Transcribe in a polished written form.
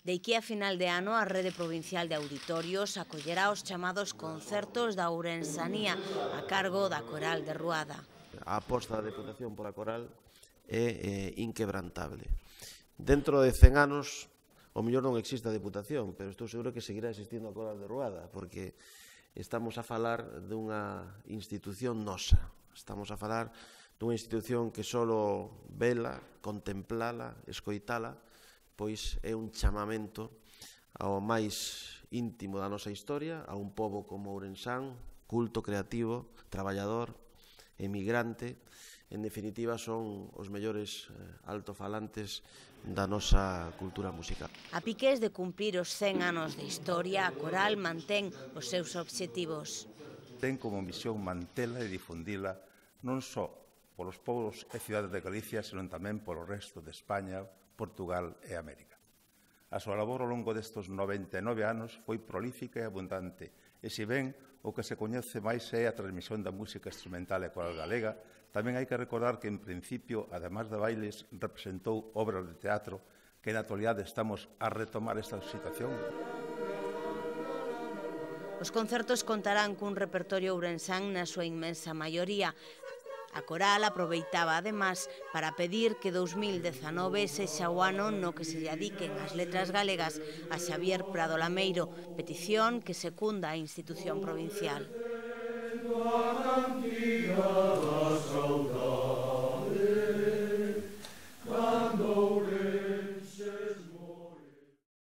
De aquí a final de ano, a Rede Provincial de Auditorios acollerá os chamados concertos da Ourensanía a cargo da Coral de Ruada. A aposta da Deputación pola Coral é inquebrantable. Dentro de 100 anos, o mellor non existe a Deputación, pero estou seguro que seguirá existindo a Coral de Ruada, porque estamos a falar dunha institución nosa. Estamos a falar dunha institución que só vela, contemplala, escoitala, pois é un chamamento ao máis íntimo da nosa historia, a un pobo como Ourensán, culto, creativo, traballador, emigrante. En definitiva, son os mellores altofalantes da nosa cultura musical. A piques de cumprir os 100 anos de historia, a Coral mantén os seus obxectivos. Ten como misión mantela e difundila non só polos pobos e cidades de Galicia, senón tamén polo resto de España, Portugal e América. A súa labor ao longo destes 99 anos foi prolífica e abundante, e se ben o que se coñece máis é a transmisión da música instrumental e coral galega, tamén hai que recordar que, en principio, ademais de bailes, representou obras de teatro que na actualidade estamos a retomar esta situación. Os concertos contarán cun repertorio ourensán na súa inmensa maioría. A Coral aproveitaba, además, para pedir que 2019 sexa o ano no que se dediquen as letras galegas a Xavier Prado Lameiro, petición que secunda a institución provincial.